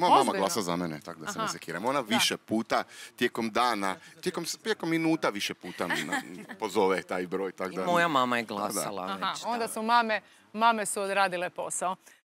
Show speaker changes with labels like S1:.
S1: Moja mama
S2: Ozbiljno?
S1: glasa za mene, tako da se ne
S2: Aha.
S1: sekiram. Ona više puta, tijekom dana, tijekom minuta više puta mi pozove taj broj.
S3: I moja mama je glasala
S2: Aha,
S3: već.
S2: onda
S3: da.
S2: su mame su odradile posao.